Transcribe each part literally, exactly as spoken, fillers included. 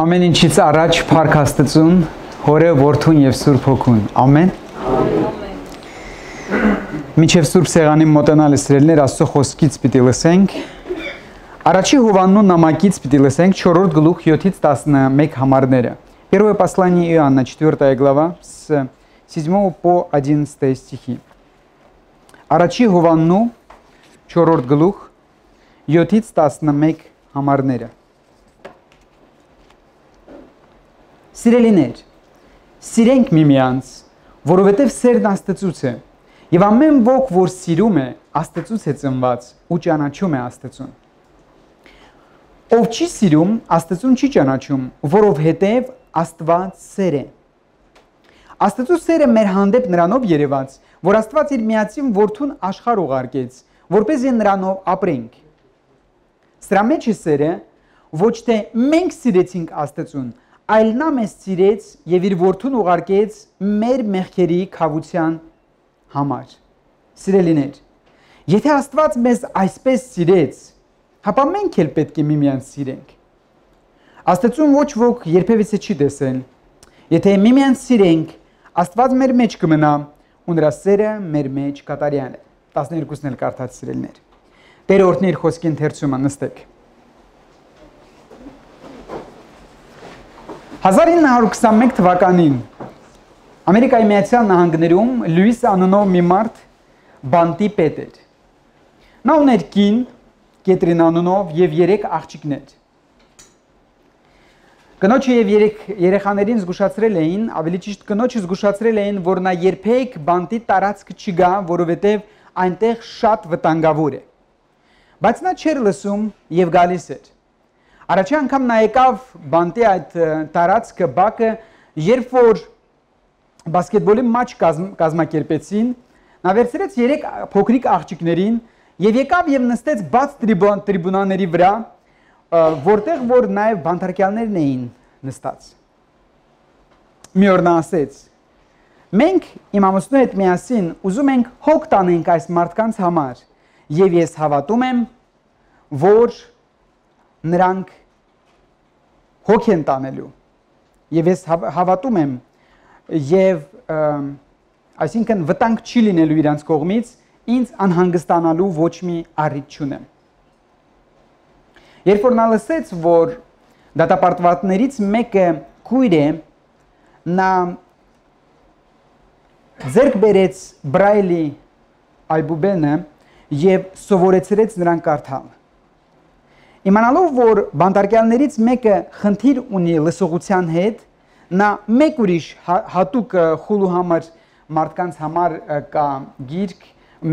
Ամեն ինչից առաջ փառք Աստծուն, Հորը, Որդուն եւ Սուրբ Հոգուն։ Ամեն։ Մինչև Սուրբ Սեղանի մոտենալը սիրելիներ, Աստծո խոսքից պիտի լսենք։ Առաջի Հովաննու նամակից պիտի լսենք չորրորդ գլուխ յոթից տասնմեկ համարները։ Первое послание Иоанна, четвёртая глава, с седьмого по одиннадцатый стихи. Առաջի Հովաննու չորրորդ գլուխ յոթից տասնմեկ համարները։ Սիրելիներ, սիրենք միմյանց, որովհետև սերն Աստծուց է, եւ ամեն ոք, որ սիրում է, Աստծուց է ծնված ու ճանաչում է Աստծուն։ Ով չի սիրում, Աստծուն չի ճանաչում, որովհետև Աստված սեր է։ Աստծու սերը մեր հանդեպ նրանով երևաց, որ Աստված իր միածին Որդուն աշխարհ ուղարկեց, որպեսզի նրանով ապրենք։ Սրա մեջ է սերը, ոչ թե մենք սիրեցինք Աստծուն, այլ նա մեզ սիրեց եւ իր Որդուն ուղարկեց մեր մեղքերի քավության համար։ Սիրելիներ, եթե Աստված մեզ այսպես սիրեց, ապա մենք էլ պետք է միմյանց սիրենք։ Աստծուն ոչ ոք երբևիցե չի տեսել։ Եթե միմյանց սիրենք, Աստված մեր մեջ կմնա ու նրա սերը մեր մեջ կատարյալ է։ տասներկուսն էլ կարդաց սիրելիներ։ Տերը օրհնի իր խոսքի ընթերցումը, նստեք։ հազար ինը հարյուր քսանմեկ թվականին Ամերիկայի Միացյալ Նահանգներում Լյուիս անունով մի մարդ բանտի պետ էր։ Նա ուներ կին, Կետրին անունով եւ երեք աղջիկներ։ Կնոջը եւ երեք երեխաներին զգուշացրել էին, ավելի ճիշտ կնոջը զգուշացրել էին, որ նա երբեք բանտի տարածք չգա, որովհետեւ այնտեղ շատ վտանգավոր է։ Բայց նա չէր լսում եւ գալիս էր։ Առաջի անգամ նա եկավ բանտի այդ տարածքը բակը, երբ որ բասկետբոլի մաչ կազմակերպեցին, նա վերցրեց երեք փոքրիկ աղջիկներին եւ եկավ եւ նստեց բաց տրիբունաների վրա, որտեղ որ նաեւ բանտարկյալներն էին նստած։ Մի օր նա ասեց. մենք իմ ամուսնու հետ միասին ուզում ենք հոգ տանենք այս մարդկանց համար եւ ես հավատում եմ, որ նրանք հոգ են տանելու եւ ես հավատում եմ եւ այսինքն վտանգ չի լինելու իրանց կողմից, ինձ անհանգստանալու ոչ մի առիթ չունեմ։ Երբ որ նա լսեց, որ դատապարտվածներից մեկը քույր է, նա ձեռք բերեց Բրայլի այբուբենը եւ սովորեցրեց նրան կարդալ։ Իմանալով, որ բանտարկյալներից մեկը խնդիր ունի լսողության հետ, նա մեկ ուրիշ հատուկ խուլու համար մարդկանց համար կա գիրք,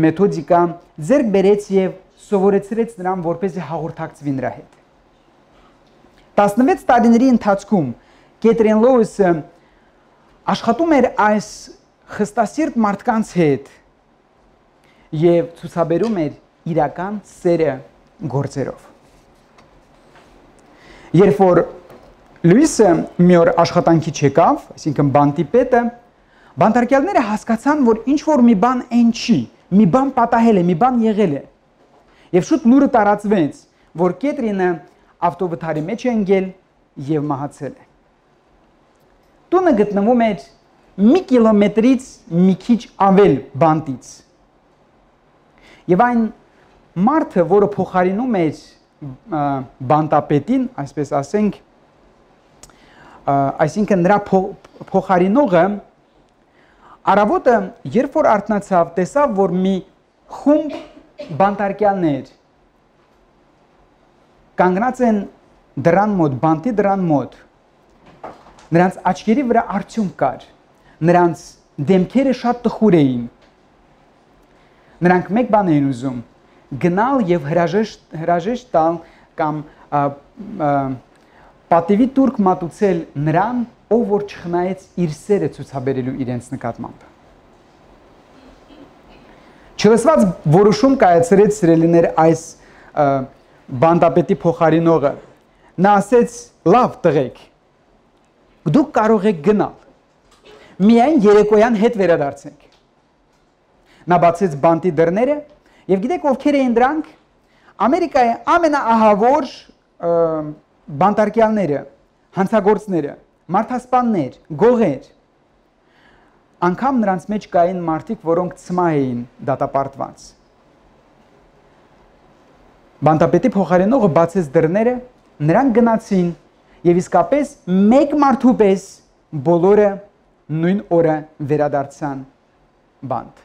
մեթոդիկա, ձեռք բերեց եւ սովորեցրեց նրան, որպեսզի հաղորդակցվի նրա հետ։ տասնվեց տարիների ընթացքում Կետրին Լոուսը աշխատում էր այս խստասիրտ մարդկանց հետ եւ ցուցաբերում էր իրական սերը գործերով։ Երբ որ Լյուիսը մի օր աշխատանքի չեկավ, այսինքն բանտի պետը, բանտարկյալները հասկացան, որ ինչ որ մի բան այն չի, մի բան պատահել է, մի բան եղել է։ Եվ շուտ լուրը տարածվեց, որ Կետրինը ավտովթարի մեջ է ընկել եւ մահացել է։ Տունը գտնվում էր մի կիլոմետրից մի քիչ ավել բանտից։ Եվ այն մարդը, որը փոխարինում էր բանտապետին, այսպես ասենք, այսինքն նրա փոխարինողը առավոտը, երբ որ արթնացավ, տեսավ, որ մի խումբ բանտարկյալներ կանգնած են դրան մոտ, բանտի դրան մոտ, նրանց աչքերի վրա արդյունք կար, նրանց դեմքերը շատ տխուր էին, նրանք մեկ բան էին ուզում, գնալ եւ հրաժեշտ հրաժեշտ տալ կամ պատիվի տուրք մատուցել նրան, ով որ չխնայեց իր սերը ցուցաբերելու իրենց նկատմամբ։ Չլսված որոշում կայացրեց սիրելիներ այս բանտապետի փոխարինողը։ Նա ասեց. լավ տղեկ, դուք կարող եք գնալ, միայն երեկոյան հետ վերադարձենք։ Նա բացեց բանտի դռները եւ գիտեք ովքեր էին դրանք, Ամերիկայի ամենաահավոր բանտարկյալները, հանցագործները, մարդասպաններ, գողեր, անգամ նրանց մեջ կային մարդիկ, որոնք ցմահ էին դատապարտված։ Բանտապետի փոխարինողը բացեց դռները, նրանք գնացին եւ իսկապես մեկ մարդու պես բոլորը նույն օրը վերադարձան բանտ։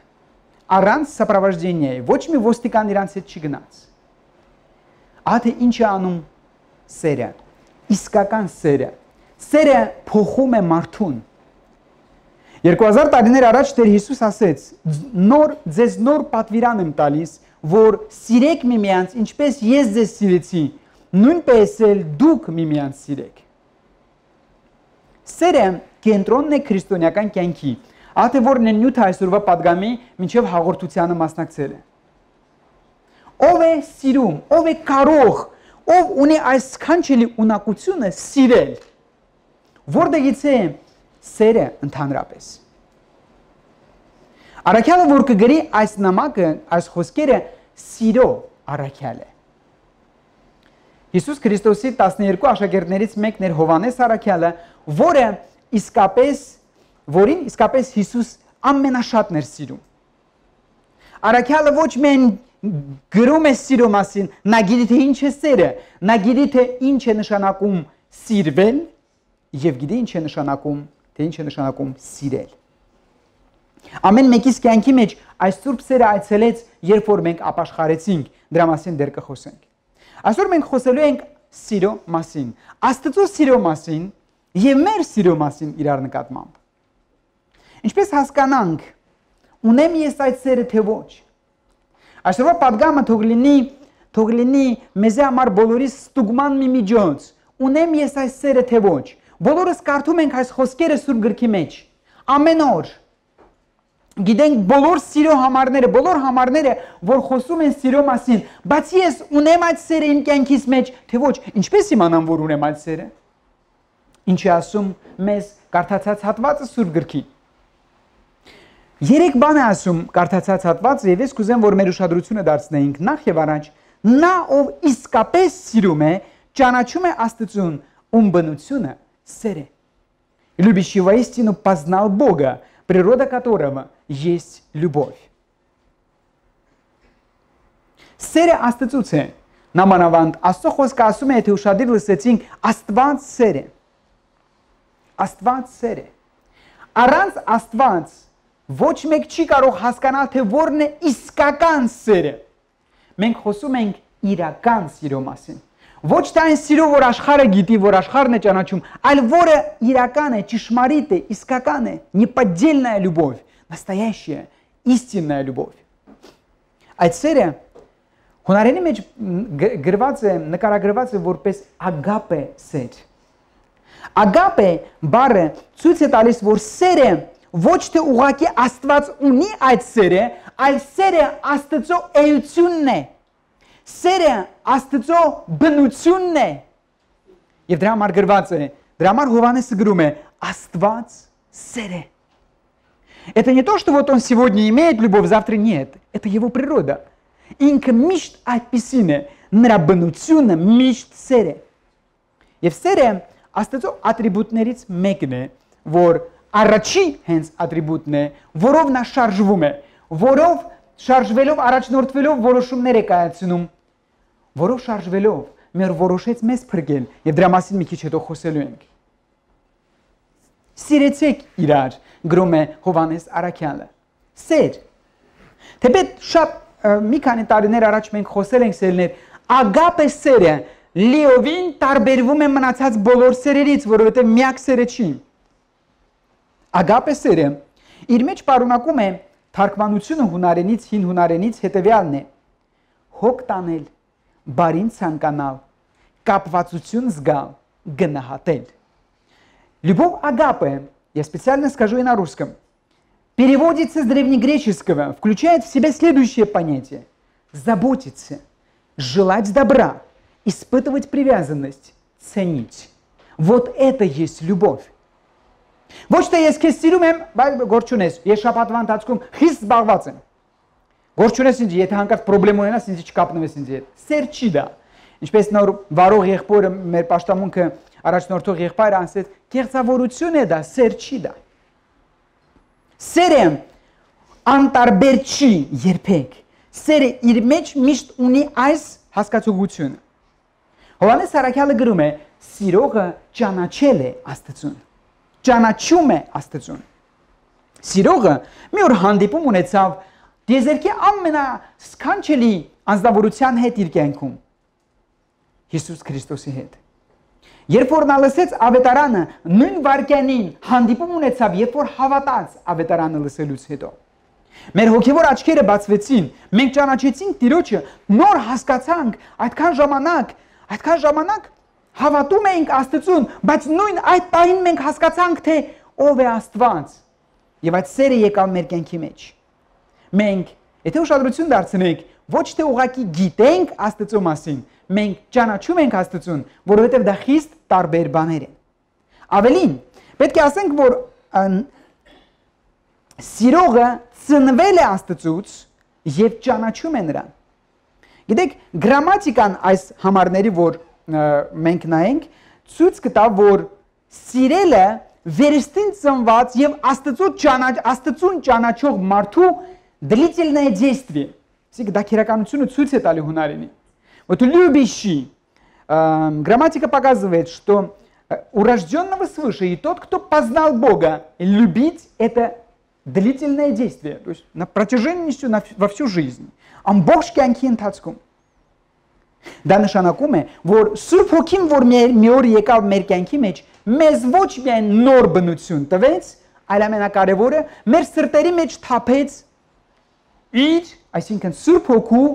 Առանց սապրավաժդենիայի, ոչ մի ոստիկան իրանց հետ չգնաց։ Ահա ինչ է անում սերը, իսկական սերը։ Սերը փոխում է մարդուն։ երկու հազար տարիներ առաջ Տեր Հիսուս ասեց. նոր ձեզ նոր պատվիրան եմ տալիս, որ սիրեք միմյանց, ինչպես ես ձեզ սիրեցի, նույնպես էլ դուք միմյանց սիրեք։ Սերը կենտրոնն է քրիստոնեական կյանքի, ահա որն է նյութը այսօրվա պատգամի մինչև հաղորդությանը մասնակցել է։ Ով է սիրում, ով է կարող, ով ունի այս սքանչելի ունակությունը սիրել, որտեղից է սերը ընդհանրապես։ Առաքյալը, որ կգրի այս նամակը, այս խոսքերը սիրո առաքյալ է։ Հիսուս Քրիստոսի տասներկու աշակերտներից մեկն էր Հովհաննես առաքյալը, որը իսկապես, որին իսկապես Հիսուս ամենաշատն էր սիրում։ Առաքյալը ոչ միայն գրում է սիրո մասին, նա գիտի թե ինչ է սերը, նա գիտի թե ինչ է նշանակում սիրվել եւ գիտի ինչ է նշանակում, թե ինչ է նշանակում սիրել։ Ամեն մեկիս կյանքի մեջ այս սուրբ սերը այցելեց, երբ որ մենք ապաշխարեցինք, դրա մասին դեռ կխոսենք։ Այսօր մենք խոսելու ենք սիրո մասին, Աստծո սիրո մասին եւ մեր սիրո մասին իրար նկատմամբ։ Ինչպես հասկանանք, ունեմ ես այդ սերը թե ոչ։ Այսօրվա պատգամը թող լինի, թող լինի մեզ համար բոլորիս ստուգման մի միջոց։ Ունեմ ես այս սերը թե ոչ։ Բոլորս կարդում ենք այս խոսքերը Սուրբ գրքի մեջ։ Ամեն օր գիտենք բոլոր սիրո համարները, բոլոր համարները, որ խոսում են սիրո մասին, բայց ես ունեմ այդ սերը իմ կյանքիս մեջ, թե ոչ, ինչպես իմանամ, որ ունեմ այդ սերը։ Ինչ է ասում մեզ կարդացած հատվածը Սուրբ գրքի։ Երեք բան է ասում կարդացած հատվածը, եւ ես կուզեմ, որ մեր ուշադրությունը դարձնեինք նախ եւ առաջ, նա ով իսկապես սիրում է, ճանաչում է Աստծուն, ում բնությունը սեր է։ Любящий воистину познал Бога, природа которого есть любовь. Սերը Աստծուց է։ Նամանավանդ Աստծո խոսքը ասում է, թե ուշադիր լսեցինք, Աստված սեր է։ Աստված սեր է։ Առանց Աստված ոչ մեկ չի կարող հասկանալ, թե որն է իսկական սերը։ Մենք խոսում ենք իրական սիրո մասին։ Ոչ թե այն սիրո, որ աշխարհը գիտի, որ աշխարհն է ճանաչում, այլ որը իրական է, ճշմարիտ է, իսկական է, неподдельная любовь, настоящая, истинная любовь։ Այդ սերը հունարենի մեջ գրված է, նկարագրված է որպես ագապե սեր։ Ագապե բառը ցույց է տալիս, որ սերը ոչ թե ուղղակի Աստված ունի այդ սերը, այլ սերը Աստծո էությունն է։ Սերը Աստծո բնությունն է։ Եվ դրա համար գրված է, դրա համար Հովհաննեսը գրում է, Աստված սեր է։ Это не то, что вот он сегодня имеет любовь, завтра нет. Это его природа. Ինքը միշտ այդպիսին է, նրա բնությունը միշտ սեր է։ Եվ սերը Աստծո ատրիբուտներից մեկն է, որ առաջի հենց ատրիբուտն է, որով նա շարժվում է, որով շարժվելով, առաջնորդվելով որոշումներ է կայացնում, որով շարժվելով մեր որոշեց մեզ փրկել, եւ դրա մասին մի քիչ հետո խոսելու ենք։ Սիրեցեք իրար, գրում է Հովհաննես առաքյալը։ Սեր։ Թեպետ շատ մի քանի տարիներ առաջ մենք խոսել ենք սերներ, ագապե սերը լիովին տարբերվում է մնացած բոլոր սերերից, որովհետև միակ սերը չի։ Ագապե սերը իր մեջ պարունակում է թարգմանությունը հունարենից, հին հունարենից հետևյալն է. հոգ տանել, բարին ցանկանալ, կապվածություն զգալ, գնահատել։ Любовь агапе, я специально скажу и на русском, переводится с древнегреческого, включает в себя следующее понятие: заботиться, желать добра, испытывать привязанность, ценить. Вот это есть любовь. Ոչ թե ես քեզ սիրում եմ, բայց գործ չունես, ես շաբաթվա ընթացքում խիստ զբաղված եմ։ Գործ չունես ինձ, եթե հանկարծ խնդրեմ ունենաս, ինձ չկապնվես ինձ հետ։ Սեր չի դա։ Ինչպես նոր վարող եղբորը մեր պաշտամունքը առաջնորդող եղբայրը ասեց, կեղծավորություն է դա, սեր չի դա։ Սերը անտարբեր չի երբեք։ Սերը իր մեջ միշտ ունի այս հասկացողությունը։ Հովհաննես Առաքյալը գրում է. սիրողը ճանաչել է Աստծուն։ Ճանաչում է Աստծուն։ Սիրողը մի օր հանդիպում ունեցավ դիեզերքի ամենասքանչելի անձնավորության հետ իր կյանքում։ Հիսուս Քրիստոսի հետ։ Երբ որ նա լսեց ավետարանը, նույն վայրկյանին հանդիպում ունեցավ, երբ որ հավատաց ավետարանը լսելուց հետո։ Մեր հոգևոր աչքերը բացվեցին, մենք ճանաչեցինք Տիրոջը, նոր հասկացանք, այդքան ժամանակ, այդքան ժամանակ հավատում էինք Աստծուն, բայց նույն այդ պահին մենք հասկացանք, թե ով է Աստված։ Եվ այդ սերը եկավ մեր կյանքի մեջ։ Մենք, եթե ուշադրություն դարձնենք, ոչ թե ուղղակի գիտենք Աստծո մասին, մենք ճանաչում ենք Աստծուն, որովհետև դա խիստ տարբեր բաներ են։ Ավելին, պետք է ասենք, որ սիրողը ծնվել է Աստծուց եւ ճանաչում է նրան։ Գիտեք, գրամատիկան այս համարների, որ մենք նայենք, ցույց կտա, որ սիրելը վերստին ծնված եւ Աստծուն ճանաչող մարդու длительное действие։ Իսկ դա քերականությունը ցույց է տալի հունարենի։ Вот любящий, грамматика показывает, что у рожденного свыше и тот, кто познал Бога, любить это длительное действие, то есть на протяжении всю, на, во всю жизнь. Ամբողջ կյանքի ընթացքում։ Դա նշանակում է, որ Սուրբ Հոգին, որ մի օր եկավ մեր կյանքի մեջ, մեզ ոչ միայն նոր բնություն տվեց, այլ ամենակարևորը մեր սրտերի մեջ թափեց իր, այսինքն Սուրբ Հոգու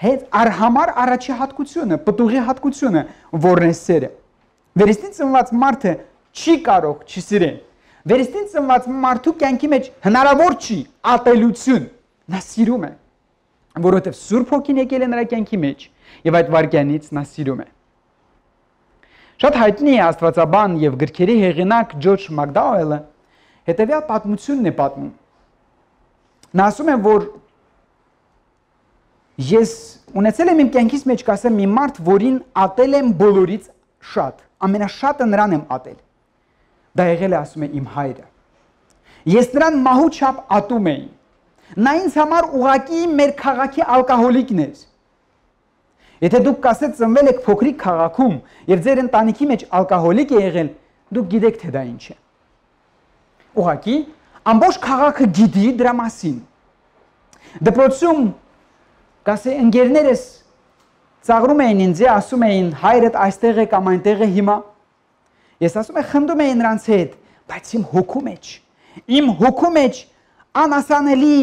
հետ արհամար առաջի հատկությունը, պտուղի հատկությունը, որն է սերը։ Վերստին ծնված մարդը չի կարող չսիրել։ Վերստին ծնված մարդու կյանքի մեջ հնարավոր չի ատելություն, նա սիրում է, որովհետև Սուրբ Հոգին եկել է նրա կյանքի մեջ եւ այդ վայրկյանից նա սիրում է։ Շատ հայտնի է աստվածաբան եւ գրքերի հեղինակ Ջորջ Մակդաուելը հետեւյալ պատմությունն է պատմում։ Նա ասում է, որ ես ունեցել եմ իմ կյանքից մեջ, կասեմ, մի մարդ, որին ատել եմ բոլորից շատ, ամենաշատը նրան եմ ատել։ Դա եղել է, ասում է, իմ հայրը։ Ես նրան մահու չափ ատում էի։ Նա ինձ համար ուղղակի մեր քաղաքի ալկոհոլիկն էր։ Եթե դուք կասեք ծնվել եք փոքրիկ քաղաքում եւ ձեր ընտանիքի մեջ ալկոհոլիկ է եղել, դուք գիտեք թե դա ինչ է։ Ուղղակի ամբողջ քաղաքը գիտի դրա մասին։ Դպրոցում կասե ընկերներս ծաղրում էին ինձ, ասում էին հայրդ այստեղ է կամ այնտեղ է հիմա։ Ես ասում եմ խնդում էի նրանց հետ, բայց իմ հոգու մեջ, իմ հոգու մեջ անասանելի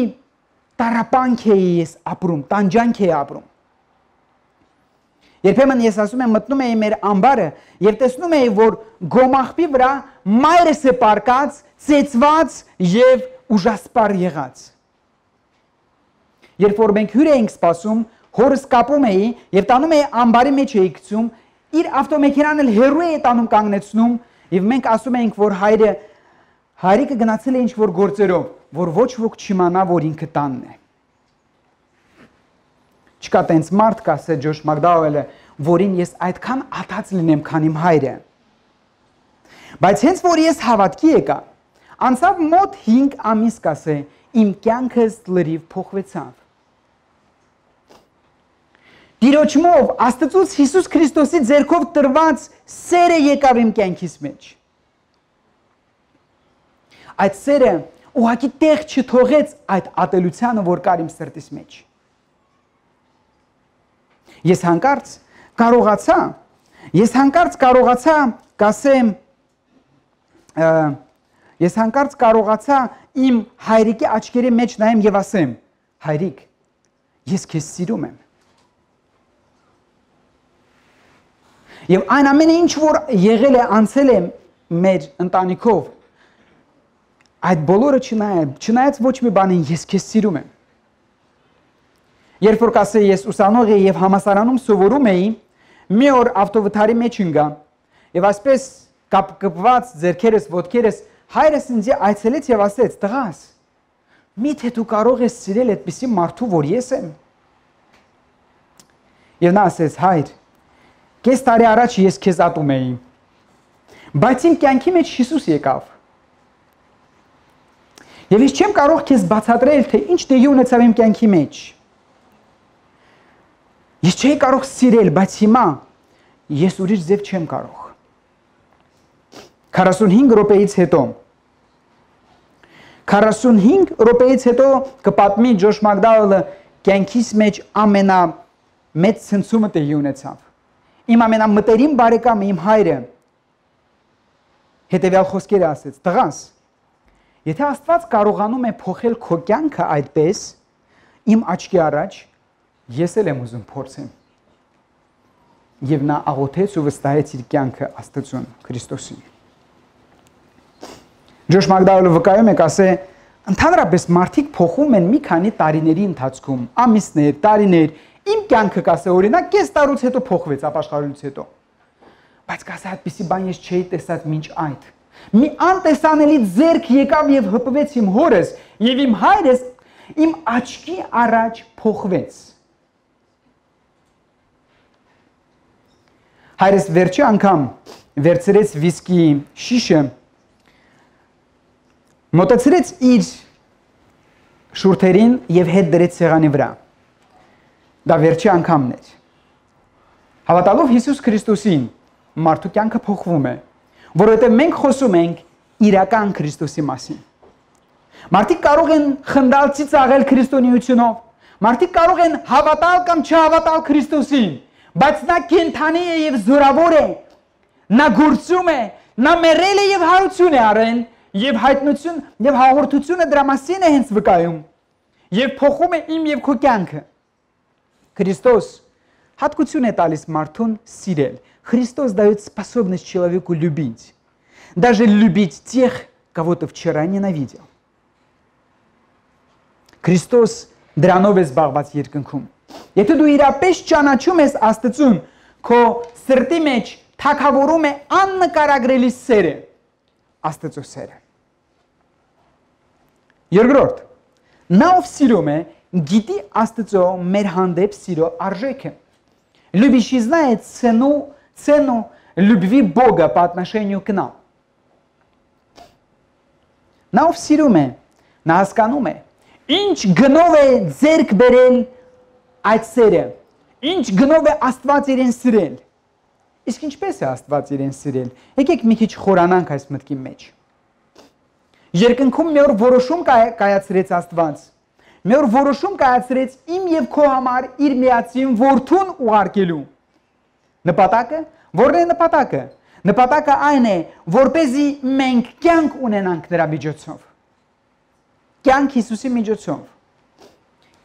տարապանք էի ես ապրում, տանջանք էի ապրում։ Երբեմն ես ասում եմ մտնում էի մեր ամբարը եւ տեսնում էի, որ գոմաղբի վրա մայրս է պարկած, ծեծված եւ ուժասպար եղած։ Երբ որ մենք հյուր էինք սպասում, հորս կապում էի եւ տանում էի ամբարի մեջ էի գցում, իր ավտոմեքենան էլ հերու էի տանում կանգնեցնում եւ մենք ասում էինք, որ հայրը հայրիկը գնացել է ինչ որ գործերով, որ ոչ ոք չիմանա, որ ինքը տանն է։ Չկա տենց մարդ, կասե Ջորջ Մակդաուելը, որին ես այդքան ատած լինեմ, քան իմ հայրը։ Բայց հենց որ ես հավատքի եկա, անցավ մոտ հինգ ամիս, կասե, իմ կյանքս լրիվ փոխվեցավ։ Տիրոջմով Աստծուց Հիսուս Քրիստոսի ձեռքով տրված սերը եկավ իմ կյանքիս մեջ։ Այդ սերը ուղղակի տեղ չթողեց այդ ատելությանը, որ կար իմ սրտիս մեջ։ Ես հանկարծ կարողացա, ես հանկարծ կարողացա, կասեմ, ես հանկարծ կարողացա իմ հայրիկի աչքերի մեջ նայեմ եւ ասեմ, հայրիկ, ես քեզ սիրում եմ։ Եվ այն ամենը ինչ որ եղել է, անցել է մեր ընտանիքով, այդ բոլորը չնայած, չնայած ոչ մի բանին ես քեզ սիրում եմ։ Երբ որ կասե ես ուսանող էի եւ համասարանում սովորում էի, մի օր ավտովթարի մեջ ընկա եւ այսպես կապկպված ձեռքերս, ոտքերս հայրս ինձ այցելեց եւ ասեց. «Տղաս, միթե դու կարող ես սիրել այդպիսի մարդու, որ ես եմ»։ Եվ նա ասեց. «Հայր, Կես տարի առաջ ես քեզ ատում էի, բայց իմ կյանքի մեջ Հիսուս եկավ։ Եվ ես չեմ կարող քեզ բացատրել, թե ինչ տեղի ունեցավ իմ կյանքի մեջ։ Ես չէի կարող սիրել, բայց հիմա ես ուրիշ ձև չեմ կարող։ քառասունհինգ րոպեից հետո քառասունհինգ րոպեից հետո կպատմի Ջոշ Մակդաուելը կյանքիս մեջ ամենամեծ ցնցումը տեղի ունեցավ։ Իմ ամենամտերիմ բարեկամը, իմ հայրը հետևյալ խոսքերը ասեց. «Տղաս, եթե Աստված կարողանում է փոխել քո կյանքը այդպես, իմ աչքի առաջ ես էլ եմ ուզում փորձեմ»։ Եվ նա աղոթեց ու վստահեց իր կյանքը Աստծուն, Քրիստոսին։ Ջոշ Մակդաուելը վկայում է, ասե, ընդհանրապես մարդիկ փոխում են մի քանի տարիների ընթացքում, ամիսներ, տարիներ, իմ կյանքը կասե օրինակ կես տարուց հետո փոխվեց ապաշխարությունից հետո։ Բայց կասե այդպիսի բան ես չէի տեսած մինչ այդ։ Մի անտեսանելի ձեռք եկավ եւ հպվեց իմ հորս եւ իմ հայրս իմ աչքի առաջ փոխվեց։ Հայրս վերջի անգամ վերցրեց վիսկի շիշը, մոտեցրեց իր շուրթերին եւ հետ դրեց սեղանի վրա։ Դա վերջի անգամն էր։ Հավատալով Հիսուս Քրիստոսին, մարդու կյանքը փոխվում է, որովհետև մենք խոսում ենք իրական Քրիստոսի մասին։ Մարդիկ կարող են խնդալ ծիծաղել քրիստոնեությունով, մարդիկ կարող են հավատալ կամ չհավատալ Քրիստոսին, բայց նա կենդանի է եւ զորավոր է, նա գործում է, նա մեռել է եւ հարություն է արել, եւ հայտնություն եւ հաղորդությունը դրա մասին է հենց վկայում, եւ փոխում է իմ եւ քո կյանքը։ Христос հատկություն է տալիս մարդուն սիրել։ Христос дает способность человеку любить. Даже любить тех, кого ты вчера ненавидел. Христос դրանով է զբաղված երկնքում։ Եթե դու իրապես ճանաչում ես Աստծուն, քո սրտի մեջ թագավորում է աննկարագրելի սերը, Աստծո սերը։ Երկրորդ, նա ով սիրում է, գիտի Աստծո մեր հանդեպ սիրո արժեքը։ Любящий знает цену, цену любви Бога по отношению к нам. Նա ով սիրում է, նա հասկանում է, ինչ գնով է ձեռք բերել այդ սերը, ինչ գնով է Աստված իրեն սիրել։ Իսկ ինչպես է Աստված իրեն սիրել։ Եկեք մի քիչ խորանանք այս մտքի մեջ։ Երկնքում մի օր որոշում կայացրեց Աստված։ Մի օր որոշում կայացրեց իմ եւ քո համար իր միածին որդուն ուղարկելու։ Նպատակը, որն է նպատակը։ Նպատակը այն է, որպեսզի մենք կյանք ունենանք նրա միջոցով։ Կյանք Հիսուսի միջոցով։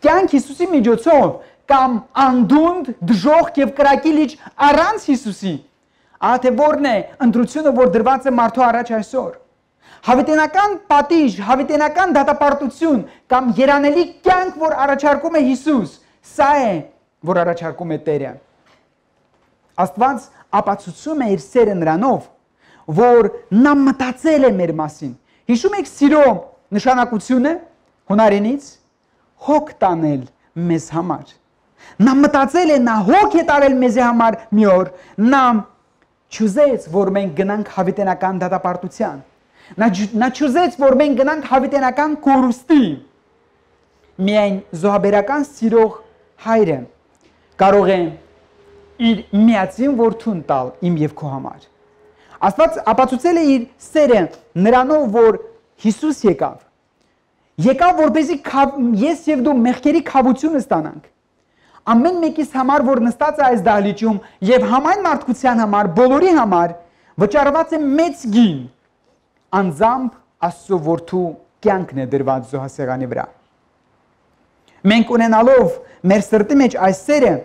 Կյանք Հիսուսի միջոցով կամ անդունդ, դժոխք եւ կրակի լիճ առանց Հիսուսի։ Ահա թե որն է ընտրությունը, որ դրված է մարդու առաջ այսօր։ Հավիտենական պատիժ, հավիտենական դատապարտություն կամ երանելի կյանք, որ առաջարկում է Հիսուս, սա է, որ առաջարկում է Տերը։ Աստված ապացուցում է իր սերը նրանով, որ նա մտածել է մեր մասին։ Հիշում եք սիրո նշանակությունը հունարենից հոգ տանել մեզ համար։ Նա մտածել է, նա հոգ է տարել մեզ համար մի օր, նա չուզեց, որ մենք գնանք հավիտենական դատապարտության։ Նա նա չուզեց, որ մենք գնանք հավիտենական կորուստի։ Միայն զոհաբերական սիրող հայրը կարող է իր միածին որդուն տալ իմ եւ քո համար։ Աստված ապացուցել է իր սերը նրանով, որ Հիսուս եկավ։ Եկավ, որպեսզի ես եւ դու մեղքերի քավությունը ստանանք։ Ամեն մեկիս համար, որ նստած է այս դահլիճում եւ համայն մարդկության համար, բոլորի համար վճարված է մեծ գին։ Անձամբ Աստծո որդու կյանքն է դրված զոհասեղանի վրա։ Մենք ունենալով մեր սրտի մեջ այս սերը,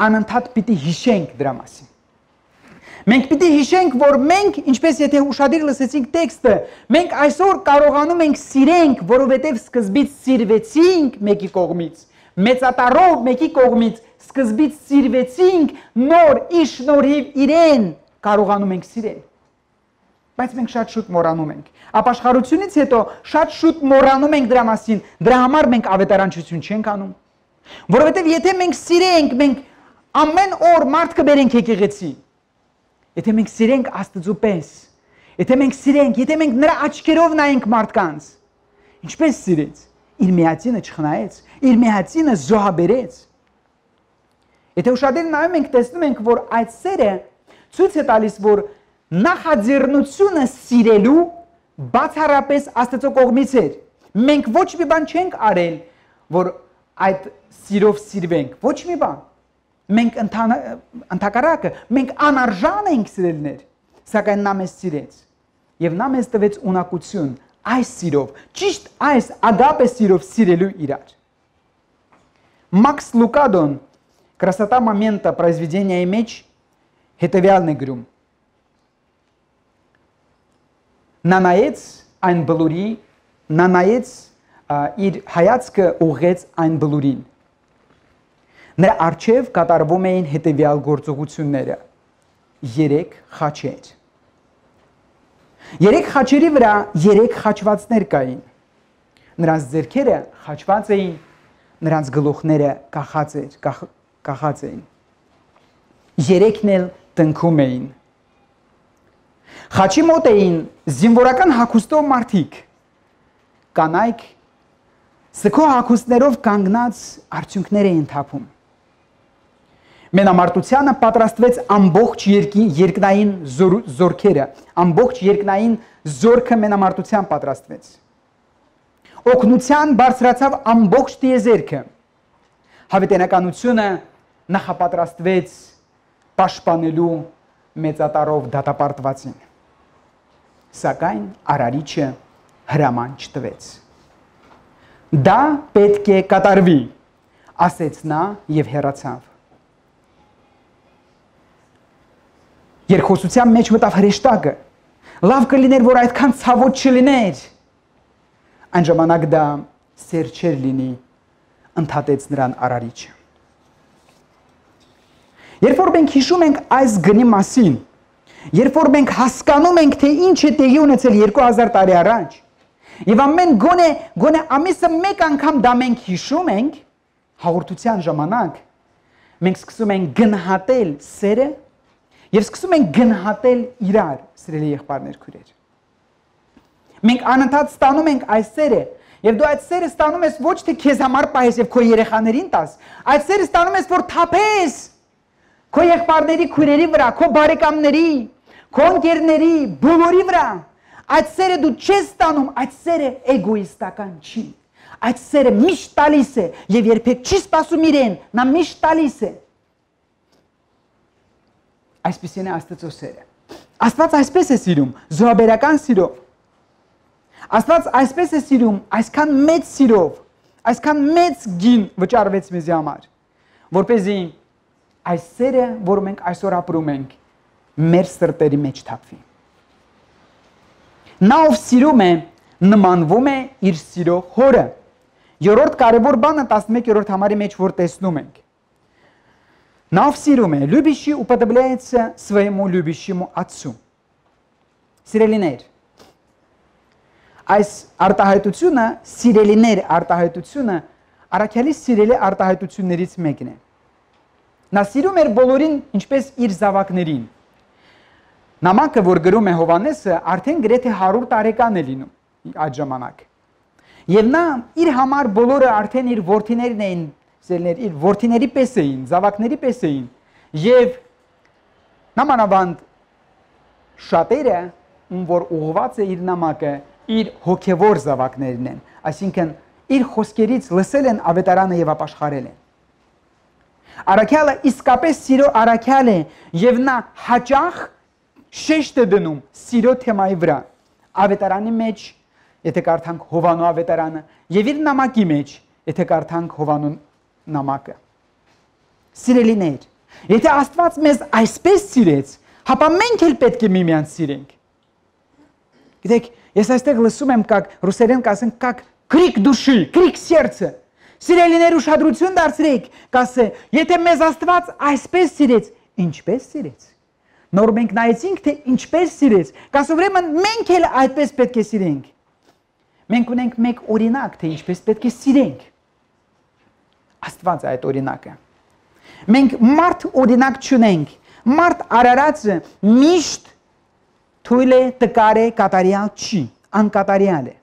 անընդհատ պիտի հիշենք դրա մասին։ Մենք պիտի հիշենք, որ մենք, ինչպես եթե ուշադիր լսեցինք տեքստը, մենք այսօր կարողանում ենք սիրենք, որովհետև սկզբից սիրվեցինք մեկի կողմից, մեծատարով մեկի կողմից, սկզբից սիրվեցինք, նոր իր շնորհիվ իրեն կարողանում ենք սիրել։ Բայց մենք շատ շուտ մոռանում ենք։ Ապաշխարությունից հետո շատ շուտ մոռանում ենք դրա մասին, դրա համար մենք ավետարանչություն չենք անում։ Որովհետև եթե մենք սիրենք, մենք ամեն օր մարդ կբերենք եկեղեցի։ Եթե մենք սիրենք Աստծու պես, եթե մենք սիրենք, եթե մենք նրա աչքերով նայենք մարդկանց, ինչպես սիրեց, իր միածինը չխնայեց, իր միածինը զոհաբերեց։ Եթե ուշադիր նայում ենք, տեսնում ենք, որ այդ սերը ցույց է տալիս, որ նախաձեռնությունը սիրելու բացառապես Աստծո կողմից էր։ Մենք ոչ մի բան չենք արել, որ այդ սիրով սիրվենք, ոչ մի բան։ Մենք ընդհակառակը, մենք անարժան ենք սիրելներ, սակայն նա մեզ սիրեց եւ նա մեզ տվեց ունակություն այս սիրով, ճիշտ այս ագապե սիրով սիրելու իրար։ Մաքս Լուկադոն «Красота момента» произведения մեջ հետևյալն է գրում. Նա նայեց այն բլուրի, նա նայեց իր հայացքը ուղղեց այն բլուրին։ Նրա առջև կատարվում էին հետևյալ գործողությունները. երեք խաչեր։ Երեք խաչերի վրա երեք խաչվածներ կային։ Նրանց ձեռքերը խաչված էին, նրանց գլուխները կախած էր, կախած էին։ Երեքն էլ տնքում էին։ Խաչի մոտ էին զինվորական հագուստով մարդիկ, կանայք սքո հագուստներով կանգնած արդյունքներ էին թափում։ Մենամարտությանը պատրաստվեց ամբողջ երկնային զորքերը, ամբողջ երկնային զորքը մենամարտության պատրաստվեց։ Օգնության բարձրացավ ամբողջ տիեզերքը։ Հավիտենականությունը նախապատրաստվեց պաշտպանելու մեծատարով դատապարտվածին։ Սակայն Արարիչը հրաման չտվեց։ Դա պետք է կատարվի, ասեց նա եւ հեռացավ։ Երկխոսության մեջ մտավ հրեշտակը։ Լավ կլիներ, որ այդքան ցավոտ չլիներ։ Այն ժամանակ դա սեր չէր լինի, ընդհատեց նրան Արարիչը։ Երբ որ մենք հիշում ենք այս գնի մասին, երբ որ մենք հասկանում ենք, թե ինչ է տեղի ունեցել երկու հազար տարի առաջ, եւ ամեն գոնե գոնե ամիսը մեկ անգամ դա մենք հիշում ենք, հաղորդության ժամանակ մենք սկսում ենք գնահատել սերը եւ սկսում ենք գնահատել իրար, սիրելի եղբայրներ, քույրեր։ Մենք անընդհատ ստանում ենք այս սերը, եւ դու այդ սերը ստանում ես ոչ թե քեզ համար պահես եւ քո երեխաներին տաս, այդ սերը ստանում ես, որ թափես քո եղբայրների, քույրերի վրա, քո բարեկամների, քո ընկերների, բոլորի վրա։ Այդ սերը դու չես ստանում, այդ սերը էգոիստական չի։ Այդ սերը միշտ տալիս է եւ երբեք չի սպասում իրեն, նա միշտ տալիս է։ Այսպեսին է Աստծո սերը։ Աստված այսպես է սիրում, զոհաբերական սիրով։ Աստված այսպես է սիրում, այսքան մեծ սիրով, այսքան մեծ գին վճարվեց մեզի համար, որպեսզի այս սերը, որ մենք այսօր ապրում ենք, մեր սրտերի մեջ թափվի։ Նա ով սիրում է, նմանվում է իր սիրո հորը։ Երրորդ կարևոր բանը տասնմեկերորդ համարի մեջ որ տեսնում ենք։ Նա ով սիրում է, любящий уподобляется своему любящему отцу։ Սիրելիներ, այս արտահայտությունը, սիրելիներ արտահայտությունը, առաքյալի սիրելի արտահայտություններից մեկն է։ Նա սիրում էր բոլորին, ինչպես իր զավակներին։ Նամակը, որ գրում է Հովանեսը, արդեն գրեթե հարյուր տարեկան է լինում այդ ժամանակ։ Եվ նա իր համար բոլորը արդեն իր որդիներն էին, իր որդիների պես էին, զավակների պես էին։ Եվ նամանավանդ շատերը, ում որ ուղղված է իր նամակը, իր հոգևոր զավակներն են, այսինքն իր խոսքերից լսել են ավետարանը եւ ապաշխարել են։ Առաքյալը իսկապես սիրո առաքյալ է եւ նա հաճախ շեշտ է դնում սիրո թեմայի վրա։ Ավետարանի մեջ, եթե կարդանք Հովանու ավետարանը, եւ իր նամակի մեջ, եթե կարդանք Հովանու նամակը։ Սիրելիներ, եթե Աստված մեզ այսպես սիրեց, հապա մենք էլ պետք է միմյանց սիրենք։ Գիտեք, ես այստեղ լսում եմ, как ռուսերեն կասեն, как крик души, крик сердца։ Սիրելիներ, ուշադրություն դարձրեք, կասե, եթե մեզ Աստված այսպես սիրեց, ինչպես սիրեց։ Նոր մենք նայեցինք, թե ինչպես սիրեց, կասը ուրեմն մենք էլ այդպես պետք է սիրենք։ Մենք ունենք մեկ օրինակ, թե ինչպես պետք է սիրենք։ Աստված է այդ օրինակը։ Մենք մարդ օրինակ չունենք, մարդ արարածը միշտ թույլ է, տկար է, կատարյալ չի, անկատարյալ է։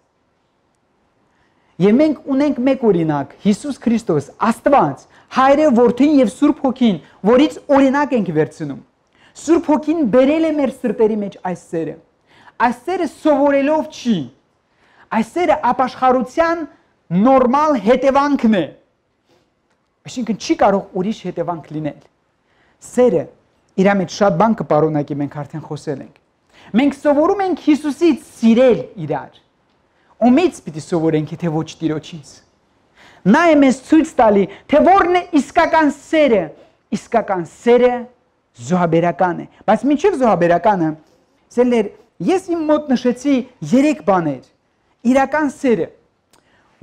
Եվ մենք ունենք մեկ օրինակ, Հիսուս Քրիստոս, Աստված, Հայրը, Որդին եւ Սուրբ Հոգին, որից օրինակ ենք վերցնում։ Սուրբ Հոգին բերել է մեր սրտերի մեջ այս սերը։ Այս սերը սովորելով չի։ Այս սերը ապաշխարության նորմալ հետևանքն է։ Այսինքն չի կարող ուրիշ հետևանք լինել։ Սերը իր մեջ շատ բան կպարունակի, մենք արդեն խոսել ենք։ Մենք սովորում ենք Հիսուսից սիրել իրար։ Ումից պիտի սովորենք, թե ոչ Տիրոջից։ Նա է մեզ ցույց տալի, թե որն է իսկական սերը։ Իսկական սերը զոհաբերական է։ Բայց մինչև զոհաբերականը, սերներ, ես իմ մոտ նշեցի երեք բաներ։ Իրական սերը,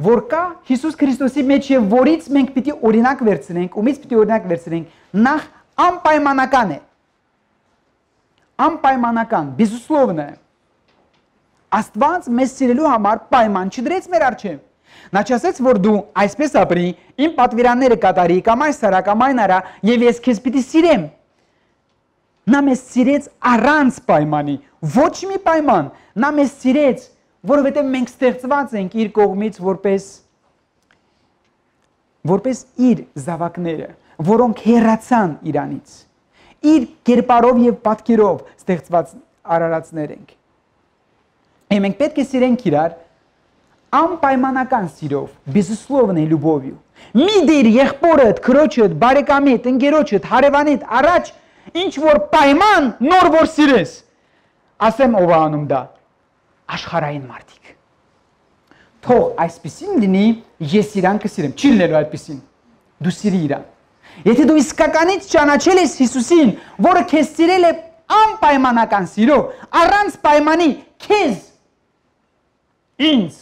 որ կա Հիսուս Քրիստոսի մեջ եւ որից մենք պիտի օրինակ վերցնենք, ումից պիտի օրինակ վերցնենք, նախ անպայմանական է։ Անպայմանական, безусловно։ Աստված մեզ սիրելու համար պայման չդրեց մեր առջև։ Նա չասեց, որ դու այսպես ապրի, իմ պատվիրանները կատարի, կամ այս արա, կամ այն արա, եւ ես քեզ պիտի սիրեմ։ Նա մեզ սիրեց առանց պայմանի, ոչ մի պայման։ Նա մեզ սիրեց, որովհետեւ մենք ստեղծված ենք իր կողմից որպես որպես իր զավակները, որոնք հեռացան իրանից։ Իր կերպարով եւ պատկերով ստեղծված արարածներ ենք։ Եվ մենք պետք է սիրենք իրար անպայմանական սիրով, безусловной любовью։ Մի դիր եղբորդ, քրոջդ, բարեկամիդ, ընկերոջդ, հարևանիդ առաջ ինչ որ պայման նոր որ սիրես։ Ասեմ ով է անում դա։ Աշխարհային մարդիկ։ Թող այսպեսին լինի, ես իրան կսիրեմ։ Չի լինելու այդպեսին։ Դու սիրի իրան։ Եթե դու իսկականից ճանաչել ես Հիսուսին, որը քեզ սիրել է անպայմանական սիրով, առանց պայմանի քեզ ինձ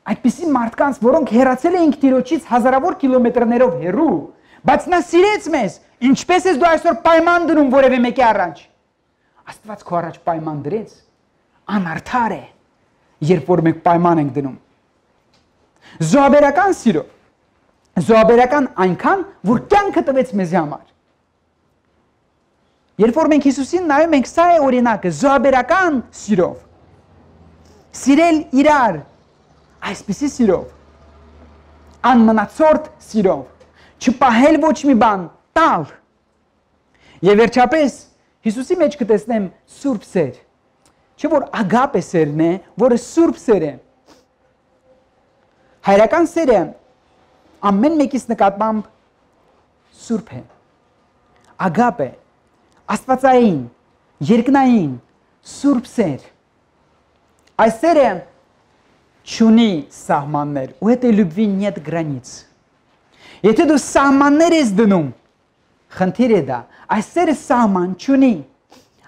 այդպիսի մարդկանց, որոնք հեռացել էին Տիրոջից հազարավոր կիլոմետրներով հեռու, բայց նա սիրեց մեզ, ինչպես ես դու այսօր պայման դնում որևէ մեկի առաջ։ Աստված քո առաջ պայման դրեց, անարդար է, երբ որ մենք պայման ենք դնում։ Զոհաբերական սիրո, զոհաբերական այնքան, որ կյանքը տվեց մեզ համար։ Երբ որ մենք Հիսուսին նայում ենք, սա է օրինակը, զոհաբերական սիրով։ Սիրել իրար, այսպիսի սիրով, անմնացորդ սիրով, չպահել ոչ մի բան, տալ։ Եվ վերջապես Հիսուսի մեջ կտեսնեմ սուրբ սեր, չէ որ ագապե սերն է, որը սուրբ սեր է։ Հայրական սերը ամեն մեկից նկատմամբ սուրբ է, ագապե, աստվածային, երկնային, սուրբ սեր։ Այս սերը չունի սահմաններ, ու этой любви нет границ։ Եթե դու սահմաններ ես դնում, խնդիր է դա, այս սերը սահման չունի։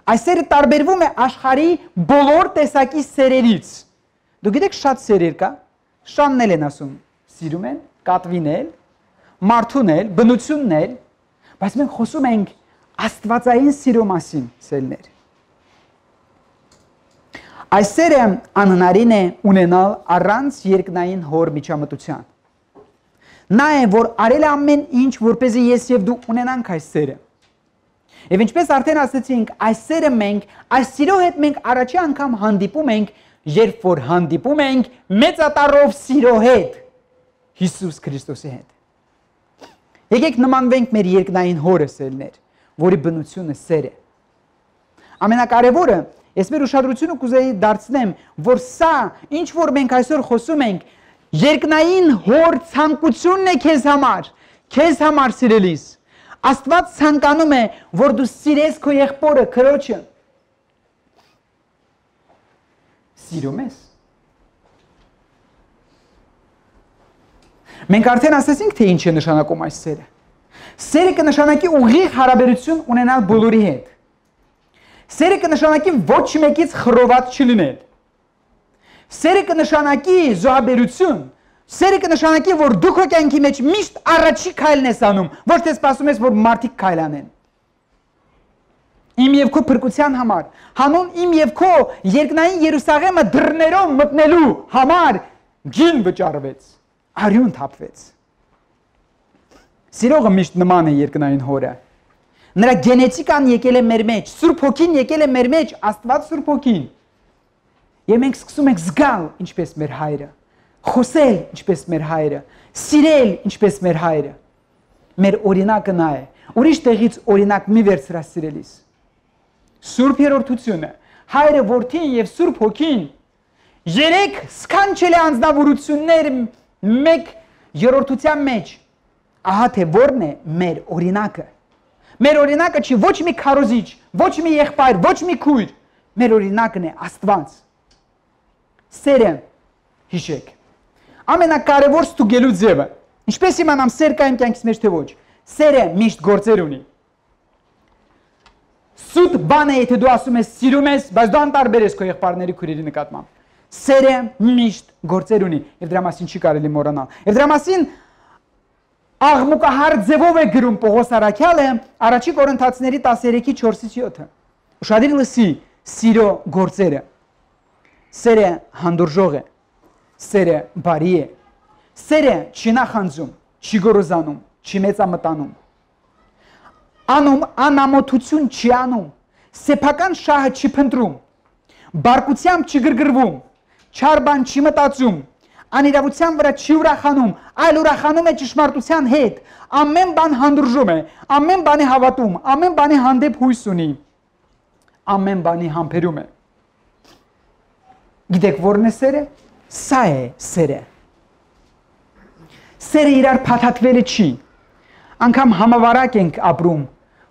Այս սերը տարբերվում է աշխարհի բոլոր տեսակի սերերից։ Դու գիտեք շատ սերեր կա, շանն էլ են ասում, սիրում են, կատվին էլ, մարդուն էլ, բնությունն էլ, բայց մենք խոսում ենք աստվածային սիրո մասին, սերներ։ Այս սերը անհնարին է ունենալ առանց երկնային հոր միջամտության։ Նա է, որ արել է ամեն ինչ, որպեսզի ես եւ դու ունենանք այս սերը։ Եվ ինչպես արդեն ասացինք, այս սերը մենք, այս սիրո հետ մենք առաջի անգամ հանդիպում ենք, երբ որ հանդիպում ենք մեծատառով սիրո հետ, Հիսուս Քրիստոսի հետ։ Եկեք նմանվենք մեր երկնային հորը, սերներ, որի բնությունը սեր է։ Ամենակարևորը, ես մեր ուշադրությունը կուզեի դարձնեմ, որ սա, ինչ որ մենք այսօր խոսում ենք, երկնային հոր ցանկությունն է քեզ համար, քեզ համար սիրելիս։ Աստված ցանկանում է, որ դու սիրես քո եղբորը, քրոջը։ Սիրում ես։ Մենք արդեն ասացինք, թե ինչ է նշանակում այս սերը։ Սերը կնշանակի ուղիղ հարաբերություն ունենալ բոլորի հետ։ Սերը կնշանակի ոչ մեկից խռոված չլինել։ Սերը կնշանակի զոհաբերություն։ Սերը կնշանակի, որ դու քո կյանքի մեջ միշտ առաջի քայլն ես անում, ոչ թե սպասում ես, որ մարդիկ քայլ անեն։ Իմ եւ քո փրկության համար, հանուն իմ եւ քո երկնային Երուսաղեմը դռներով մտնելու համար գին վճարվեց, արյուն թափվեց։ Սիրողը միշտ նման է երկնային հորը։ Նրա գենետիկան եկել է մեր մեջ, Սուրբ Հոգին եկել է մեր մեջ, Աստված Սուրբ Հոգին։ Եվ մենք սկսում ենք զգալ ինչպես մեր հայրը, խոսել ինչպես մեր հայրը, սիրել ինչպես մեր հայրը։ Մեր օրինակը նա է։ Ուրիշ տեղից օրինակ մի վերցրա սիրելիս։ Սուրբ երրորդությունը, հայրը, որդին եւ Սուրբ Հոգին երեք սքանչելի անձնավորություններ մեկ երրորդության մեջ։ Ահա թե որն է մեր օրինակը։ Մեր օրինակը չի ոչ մի քարոզիչ, ոչ մի եղբայր, ոչ մի քույր։ Մեր օրինակն է Աստված։ Սերը հիշեք։ Ամենակարևոր ստուգելու ձևը։ Ինչպես իմանամ սեր կա իմ կյանքից մեջ թե ոչ։ Սերը միշտ գործեր ունի։ Սուտ բան է, եթե դու ասում ես սիրում ես, բայց դու անտարբեր ես քո եղբայրների քույրերի նկատմամբ։ Սերը միշտ գործեր ունի, եւ դրա մասին չի կարելի մոռանալ։ Եվ դրա մասին աղմուկահար ձևով է գրում Պողոս Առաքյալը Առաջի Կորինթացիների տասներեքի չորսից յոթը։ Ուշադիր լսի սիրո գործերը։ Սերը հանդուրժող է, սերը բարի է, սերը չի նախանձում, չի գոռոզանում, չի մեծամտանում, անում անամոթություն չի անում, սեփական շահը չի փնտրում, բարկությամբ չի գրգռվում, չար բան չի մտածում, անիրավության վրա չի ուրախանում, այլ ուրախանում է ճշմարտության հետ, ամեն բան հանդուրժում է, ամեն բանի հավատում, ամեն բանի հանդեպ հույս ունի, ամեն բանի համբերում է։ Գիտեք որն է սերը։ Սա է սերը։ Սերը իրար փաթաթվելը չի։ Անգամ համավարակ ենք ապրում։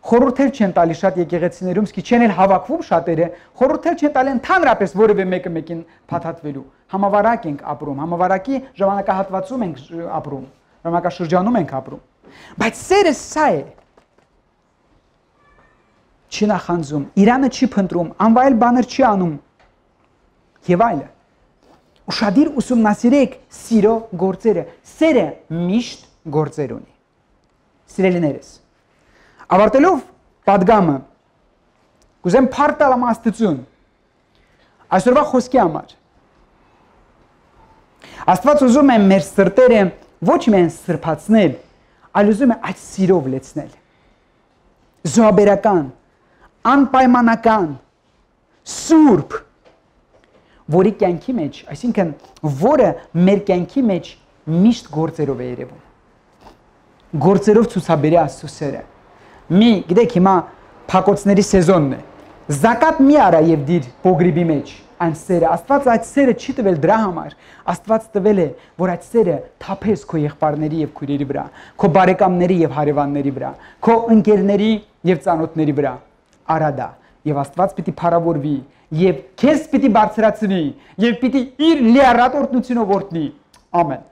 Խորհուրդ չեն տալի շատ եկեղեցիներում, սկի չեն էլ հավաքվում շատերը, խորհուրդ չեն տալի ընդհանրապես որևէ մեկը մեկին փաթաթվելու։ Համավարակ ենք ապրում, համավարակի ժամանակահատվածում ենք ապրում, ժամանակաշրջանում ենք ապրում։ Բայց սերը սա է։ Չի նախանձում, իրանը չի փնտրում, անվայել բաներ չի անում։ Եվ այլը։ Ուշադիր ուսումնասիրեք սիրո գործերը։ Սերը միշտ գործեր ունի։ Սիրելիներս, ավարտելով պատգամը, կուզեմ փառք տալ Աստծուն այսօրվա խոսքի համար։ Աստված ուզում է մեր սրտերը ոչ միայն սրբացնել, այլ ուզում է այդ սիրով լեցնել։ Զոհաբերական, անպայմանական, սուրբ, որի կյանքի մեջ, այսինքն որը մեր կյանքի մեջ միշտ գործերով է երևում։ Գործերով ցուցաբերի Աստծո սերը։ Մի, գիտեք, հիմա փակոցների սեզոնն է։ Զակատ մի արա եւ դիր փոգրիբի մեջ այն սերը։ Աստված այդ սերը չի տվել դրա համար։ Աստված տվել է, որ այդ սերը թափես քո եղբայրների եւ քույրերի վրա, քո բարեկամների եւ հարևանների վրա, քո ընկերների եւ ծանոթների վրա։ Արա դա։ Եվ Աստված պիտի փառավորվի եւ քեզ պիտի բարձրացնի եւ պիտի իր լիառատ օրհնությունով օրհնի։ Ամեն։